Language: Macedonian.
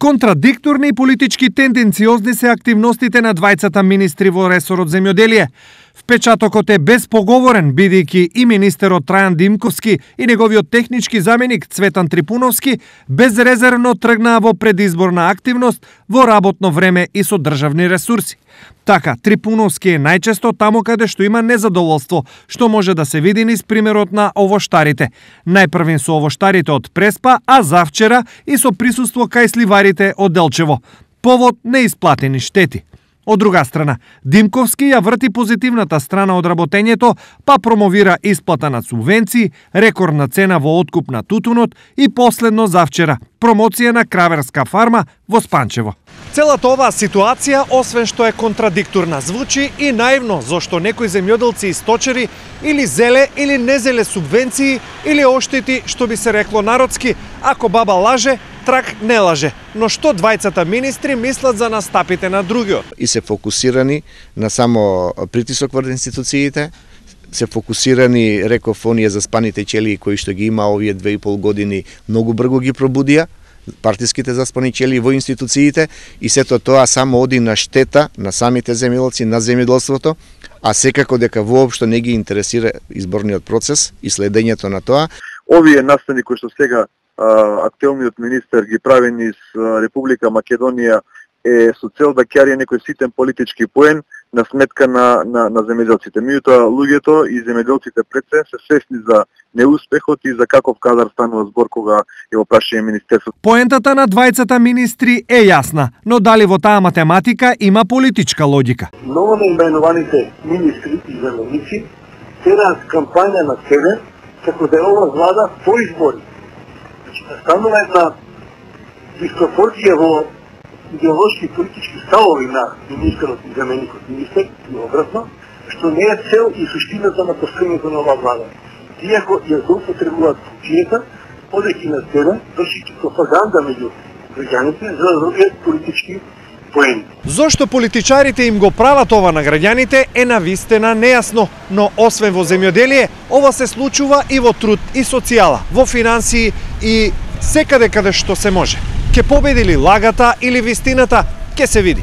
Контрадикторни и политички тенденциозни се активностите на двајцата министри во ресорот земјоделие. Впечатокот е безпоговорен, бидејќи и министерот Трајан Димковски и неговиот технички заменик Цветан Трипуновски безрезервно тргнаа во предизборна активност во работно време и со државни ресурси. Така, Трипуновски е најчесто таму каде што има незадоволство, што може да се види низ примерот на овоштарите. Најпрвин со овоштарите од Преспа, а завчера и со присуство кај сливарите од Делчево. Повод неисплатени штети. Од друга страна, Димковски ја врти позитивната страна од работењето, па промовира исплата на субвенции, рекордна цена во откуп на тутунот и последно завчера промоција на краверска фарма во Спанчево. Целата оваа ситуација, освен што е контрадикторна, звучи и наивно, зашто некои земјоделци и сточери или зеле или не зеле субвенции или оштети, што би се рекло народски, ако баба лаже, трак не лаже. Но што двајцата министри мислат за настапите на другиот? И се фокусирани на само притисок врз институциите, се фокусирани, реков, оние заспаните челии кои што ги има овие 2,5 години, многу брзо ги пробудија партиските заспани челии во институциите и сето тоа само оди на штета на самите земјоделци, на земјоделството, а секако дека воопшто не ги интересира изборниот процес и следењето на тоа. Овие настани кои што сега актуелниот министер ги прави низ Република Македонија е со цел да ќе некој ситен политички поен на сметка на земјоделците. Меѓутоа луѓето и земјоделците пред се свесни за неуспехот и за каков кадар станува збор кога е во прашање министерство. Поентата на двајцата министри е јасна, но дали во таа математика има политичка логика? Ново наименуваните министри и заменици тераат кампања на себе како да е ова влада по избори. Станува една диспропорција во идеолошки политички ставови на министерот и заменикот министер и обратно, што не е цел и суштината на постојањето на оваа влада. Тие ако ја злоупотребуваат функцијата, одејќи на терен, вршејќи пропаганда меѓу граѓаните за да добијат политички поени. Зошто политичарите им го прават ова на граѓаните е навистина нејасно, но освен во земјоделие, ова се случува и во труд и социјала, во финансии и секаде каде што се може. Ке победи ли лагата или вистината, ке се види.